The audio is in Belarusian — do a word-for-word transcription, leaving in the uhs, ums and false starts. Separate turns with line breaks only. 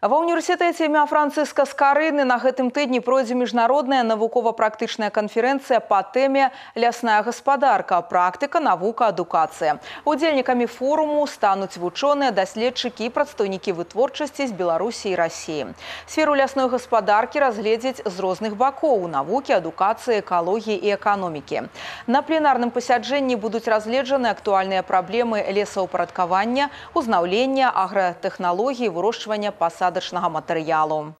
Ва ўніверсітэце імя Францыска Скарыны на гэтым тыдні пройдзе міжнародная навукова-практычная канферэнцыя па тэме «Лясная гаспадарка. Практыка, навука, адукацыя». Удзельнікамі форуму стануць вучоныя, даследчыкі і прадстаўнікі вытворчасці з Беларусі і Расіі. Сферу лясной гаспадаркі разгледзяць з розных бакоў – навукі, адукацыі, экалогіі і эканомікі. На пленарным пасяджэнні будуць разгледжаны актуальныя праблемы лесаўпарадкавання, узнаўлення, агратэхналогіі, вырошчвання пасадачнага матэрыялу.